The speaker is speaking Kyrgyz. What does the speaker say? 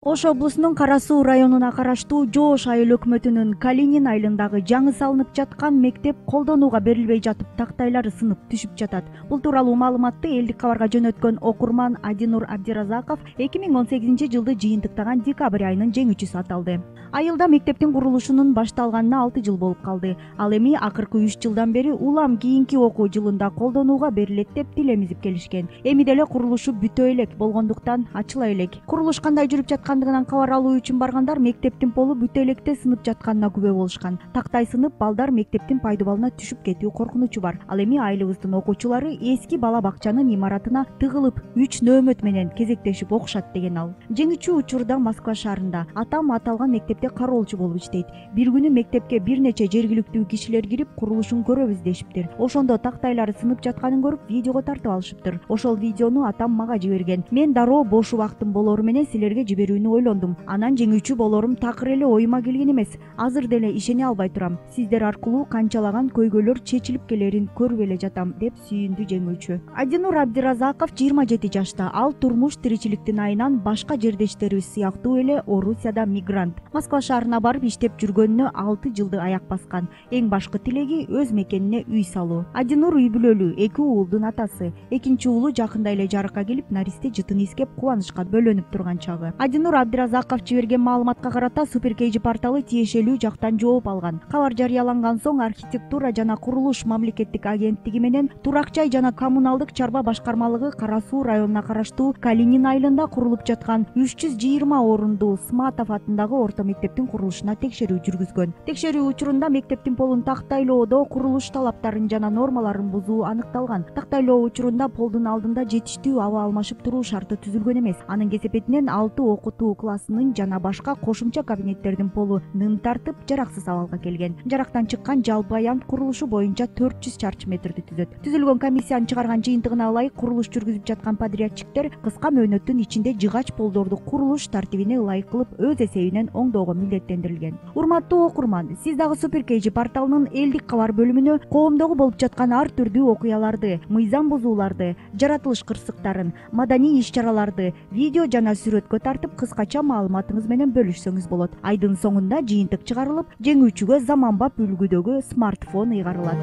Ош облусунун Кара Суу районуна караштуу Жоош айыл өкмөтүнүн Калинин айылындагы жаңы салынып жаткан мектеп колдонууга берилбей жатып тактайлары сынып түшүп жатат. Бул тууралуу маалыматты Элдик кабарга жөнөткөн окурман Адинур Абдиразаков 2018-жылды жыйынтыктаган декабрь айынын жеңүүчүсү аталды. Айылда мектептин курулушунун башталганына 6 жыл болуп калды. Ал эми акыркы 3 жылдан бери улам кийинки окуу жылында колдонууга берилет деп тилемизип келишкен. Эми деле курулушу бүтө элек болгондуктан ачыла элек. Курулуш кандай жүрүп жаткандыгынан кабар алуу үчүн баргандар мектептин полу бүтө электе сынып жатканына күбө болушкан. Тактай сынып, балдар мектептин пайдубалына түшүп кетүү коркунучу бар. Ал эми айылыбыздын окуучулары эски бала бакчанын имаратына тыгылып 3 нөөмөт менен кезектешип окушат деген ал. Жеңүүчү учурда Москва шаарында. Атам аталган мектепте кароолчу болуп иштейт. Бир күнү мектепке бир нече жергиликтүү кишилер кирип курулушун көрөбүз дешиптир. Ошондо тактайлары сынып жатканын көрүп видеого тартып алышыптыр. Ошол видеону атам мага жиберген. Мен дароо бош убактым болору менен силерге жиберүүнү ойлондум. Анан жеңүүчү болорум такыр эле оюма келген эмес. Азыр деле ишене албай турам. Сиздер аркылуу канчалаган көйгөйлөр чечилип келерин көрүп эле жатам, деп сүйүндү жеңүүчү. Адинур Абдиразаков 27 жашта. Ал турмуш тиричиликтин айынан башка жердештерибиз сыяктуу эле Орусияда мигрант. Москва шаарына барып иштеп жүргөнүнө 6 жылды аяк баскан. Эң башкы тилеги өз мекенине үй салуу. Адинур үй бүлөлүү, 2 уулдун атасы. Экинчи уулу жакында эле жарыкка келип, наристе жытын искеп кубанычка бөлөнүп турган чагы. Адинур Абдиразаков жиберген маалыматка карата Суперкейджи порталы тиешелүү жактан жооп алган. Кабар жарыяланган соң архитектура жана курулуш мамлекеттик агенттиги менен Турак жай жана коммуналдык чарба башкармалыгы Кара Суу районуна караштуу Калинин айылында курулуп жаткан 320 орундуу Сматов атындагы орто мектептин курулушуна текшерүү жүргүзгөн. Текшерүү учурунда мектептин полун тактайлоодо курулуш талаптарын жана нормаларын бузуу аныкталган. Тактайлоо учурунда полдун алдында жетиштүү аба алмашып туруу шарты түзүлгөн эмес. Анын кесепетинен 6 окутуу классынын жана башка кошумча кабинеттердин полу нын тартып, жараксыз абалга келген. Жарактан чыккан жалпы аянт курулушу боюнча 400 чарчы метрди түзөт. Түзүлгөн комиссиянын чыгарган жыйынтыгына ылайык курулуш жүргүзүп жаткан подрядчиктер кыска мөөнөттүн ичинде жыгач полдорду курулуш тартибине ылайык кылып өз эсебинен оңдоого милдеттендирилген. Урматтуу окурман, сиз дагы Суперкейджи порталынын Элдик кабар бөлүмүнө коомдогу болуп жаткан ар түрдүү окуяларды, мыйзам бузууларды, жаратылыш кырсыктарын, маданий иш-чараларды видео жана сүрөткө тартып кыскача маалыматыңыз менен бөлүшсөңүз болот. Айдын соңунда жыйынтык чыгарылып, жеңүүчүгө заманбап үлгүдөгү смартфон ыйгарылат.